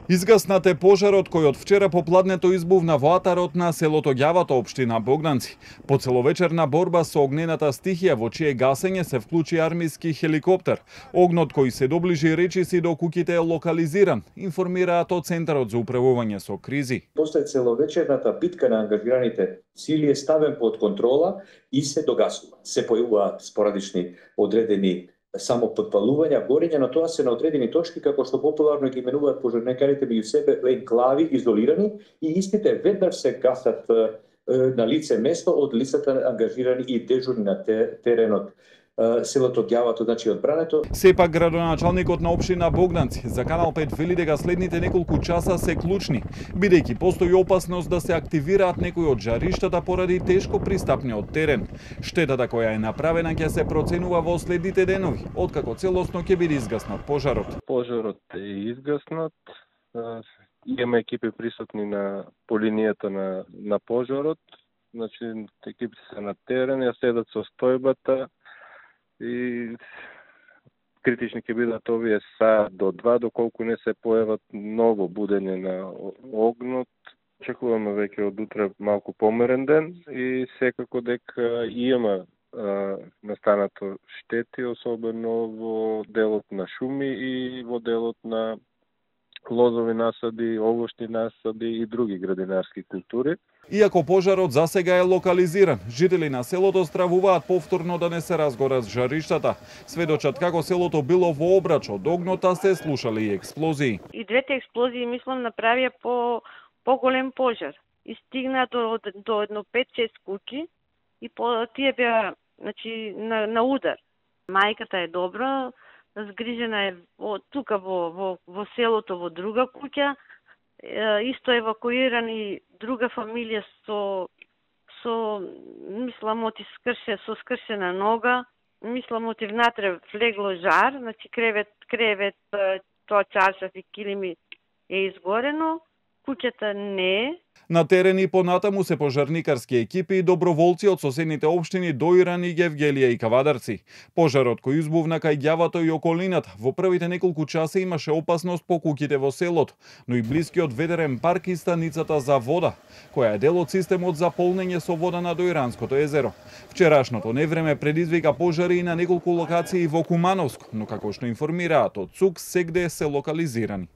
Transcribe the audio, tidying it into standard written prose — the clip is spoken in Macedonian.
Изгаснат е пожарот кој од вчера попладнето избувна во атарот на селото Ѓавато, општина Богданци. По целовечерна борба со огнената стихија, во чие гасење се вклучи армиски хеликоптер. Огнот кој се доближи речиси до куќите е локализиран, информираат од Центарот за управување со кризи. После целовечерната битка на ангажираните сили е ставен под контрола и се догасува. Се појавуваат спорадични одредени само подпалувања, горење, но тоа се на одредени точки, како што популарно ги именуваат пожарникарите меѓу себе енклави, изолирани, и истите веднаш се гасат на лице место од лицата ангажирани и дежурни на теренот. Селото Ѓавато, значи одбрането. Сепак градоначалникот на општина Богданци за Канал 5 вели дека следните неколку часа се клучни, бидејќи постои опасност да се активираат некои од жариштата поради тешко пристапниот терен. Штетата која е направена ќе се проценува во следните денови, откако целосно ќе биде изгаснат пожарот. Пожарот е изгаснат. Имаме екипи присутни по линијата на пожарот. Значи екипите се на терен, ја седат со стојбата и критични ќе бидат овие саат до 2, доколку не се појават многу будење на огнот. Очекуваме веќе од утре малку померен ден и секако дека има настанато штети, особено во делот на шуми и во делот на лозови насади, овошни насади и други градинарски култури. Иако пожарот засега е локализиран, жители на селото стравуваат повторно да не се разгорат жариштата. Сведочат како селото било во обрач од огнота, се слушали и експлозии. И двете експлозии, мислам, направија поголем пожар. И стигна до едно 5-6 куќи и тие беа, значи, на удар. Мајката е добра, згрижена е тука во селото, во друга куќа. Исто евакуирани друга фамилија со мислам со скршена нога. Мислам внатре влегло жар, значи кревет, тоа чаршаф и килими е изгорено. Куќата не е. На терен и понатаму се пожарникарски екипи и доброволци од соседните општини Доиран и Гевгелија и Кавадарци. Пожарот кој избувна кај Ѓавато и околината во првите неколку часа имаше опасност по куќите во селото, но и блискиот ветерен парк и станицата за вода, која е дел од системот за полнење со вода на Доиранското езеро. Вчерашното невреме предизвика пожари и на неколку локации во Кумановско, но како што информираат од ЦУК, сегде се локализирани.